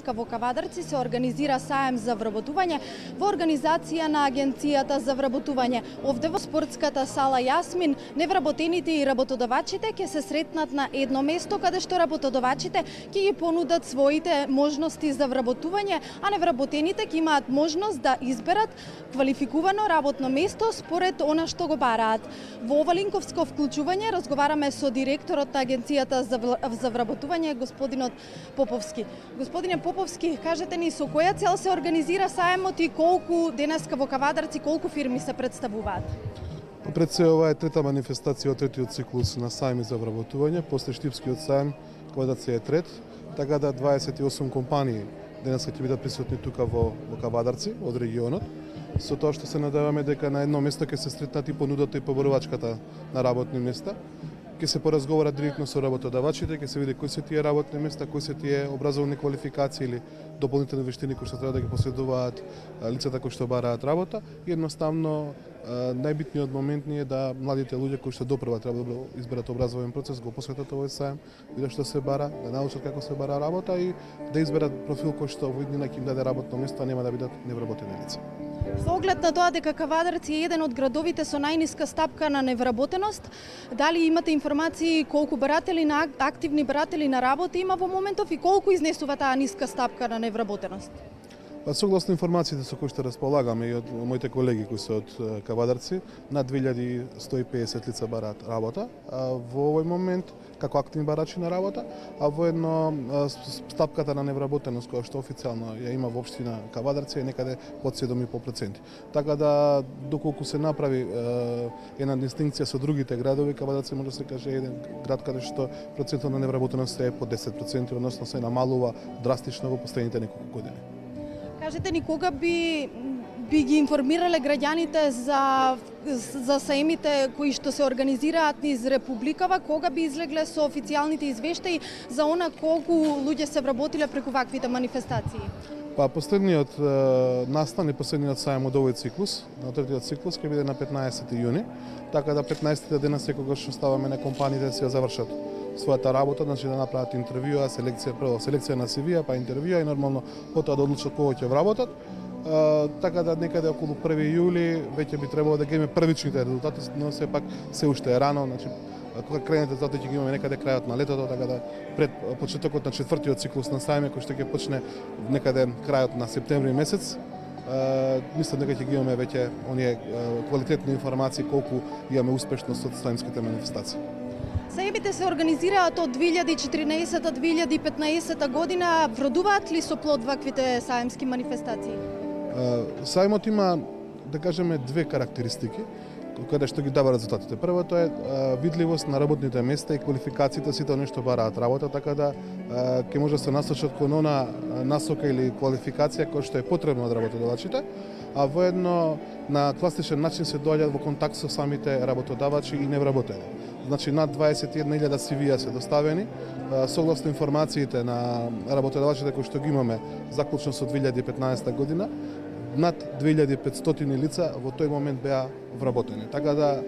денеска во Кавадарци се организира саем за вработување во организација на Агенцијата за вработување. Овде во спортската сала Јасмин, невработените и работодавачите ќе се сретнат на едно место каде што работодавачите ќе ги понудат своите можности за вработување, а невработените ќе имаат можност да изберат квалификувано работно место според она што го бараат. Во ова линковско вклучување разговараме со директорот на Агенцијата за вработување, господинот Поповски. Господине Поповски, кажете ни со која цел се организира саемот и колку денеска во Кавадарци, колку фирми се представуваат? Пред се ова е трета манифестација од третиот циклус на саеми за вработување, после Штипскиот саем, Кавадарци е трет, така да 28 компании денеска ќе бидат присутни тука во Кавадарци, од регионот, со тоа што се надеваме дека на едно место ќе се сретнат и понудата и поборувачката на работни места. Ќе се поразговара директно со работодавачите, ќе се види кои се тие работни места, кои се тие образовни квалификации или дополнителни вештини кои што треба да ги поседуваат лицата кои што бараат работа. И едноставно најбитниот момент е да младите луѓе кои што допрва треба да изберат образовен процес, го посветат овој саем, видат што се бара, да научат како се бара работа и да изберат профил кој што во иднина ќе им даде работно место, а нема да бидат невработени лица. Со оглед на тоа дека Кавадарци е еден од градовите со најниска стапка на невработеност, дали имате информации колку баратели на активни баратели на работа има во моментов и колку изнесува таа ниска стапка на невработеност? Согласно информациите со кои што располагаме и од моите колеги кои се од Кавадарци, над 2150 лица бараат работа во овој момент како активни барачи на работа, а воедно стапката на невработеност која што официјално ја има во општина Кавадарци е некаде под 7,5%. Така да доколку се направи една дистинкција со другите градови, Кавадарци може да се каже еден град каде што процентот на невработеност е под 10%, односно се намалува драстично во последните неколку години. Кажете ни кога би ги информирале граѓаните за саемите кои што се организираат низ Републикава, кога би излегле со официјалните извештаи за она колку луѓе се вработиле преку ваквите манифестации? Последниот настан и последниот саем од овој циклус, на третиот циклус, ќе биде на 15 јуни, така да 15 дена секогаш оставаме на компаниите да се завршат својата работа, значи да направат интервјуа, селекција на CV-а, па интервјуа и нормално потоа да одлучат кога ќе вработат. Така да некаде околу 1 јули веќе би требало да ги имаме првичните резултати, но сепак се уште е рано, значи кога крените затоа ќе ги имаме некаде крајот на летото, така да пред почетокот на четвртиот циклус на саеме кој што ќе почне некаде крајот на септември месец, мислам дека ќе ги имаме веќе оние квалитетни информации колку имаме успешност од саемските манифестации. Саемите се организираат од 2014-2015 година. Вродуваат ли со плод ваквите саемски манифестации? Саемот има, да кажеме, две карактеристики каде што ги дава резултатите. Првото е видливост на работните места и квалификациите сите оние што бараат работа, така да ќе може да се насочат кон она насока или квалификација која што е потребна од работодавачите, а воедно на класичен начин се доаѓаат во контакт со самите работодавачи и невработени. Значи над 21.000 CV-а се доставени, согласно информациите на работодавачите кои што ги имаме заклучно со 2015 година, над 2500 лица во тој момент беа вработени. Така да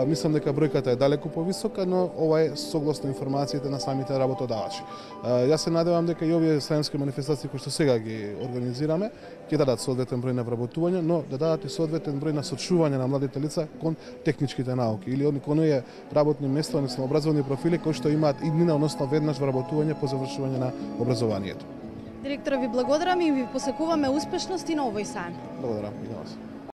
мислам дека бројката е далеку повисока, но ова е согласно информациите на самите работодавачи. Јас се надевам дека и овие саемски манифестации кои што сега ги организираме ќе дадат соодветен број на вработување, но да дадат и соодветен број на сочување на младите лица кон техничките науки или кон оние работни места, односно образовни профили кои што имаат иднина, односно веднаш вработување по завршување на образованието. Директора, ви благодарам и ви посакуваме успешност и на овој саем. Благодарам и на вас.